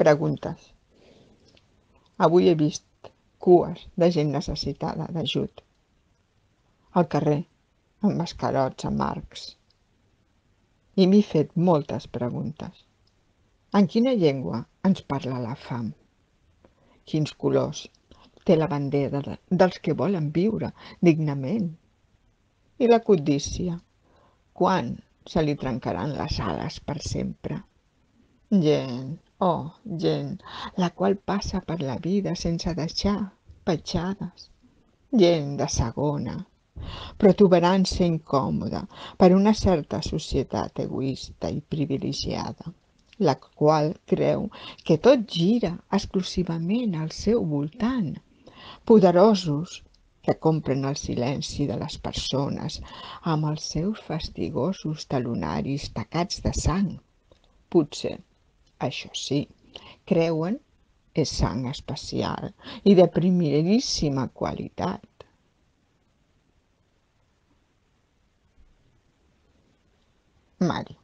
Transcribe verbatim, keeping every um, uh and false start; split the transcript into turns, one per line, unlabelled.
Preguntes. Avui he vist cues de gent necessitada d'ajut. Al carrer, amb mascarots amb arcs. I m'he fet moltes preguntes. En quina llengua ens parla la fam? Quins colors té la bandera dels que volen viure dignament? I la codícia, quan se li trencaran les ales per sempre? Gent, oh, gent, la qual passa per la vida sense deixar petjades. Gent de segona, protuberància incòmoda per una certa societat egoista i privilegiada, la qual creu que tot gira exclusivament al seu voltant. Poderosos que compren el silenci de les persones amb els seus fastigosos talonaris tacats de sang. Potser, això sí, creuen és sang especial i de primeríssima qualitat. Mari.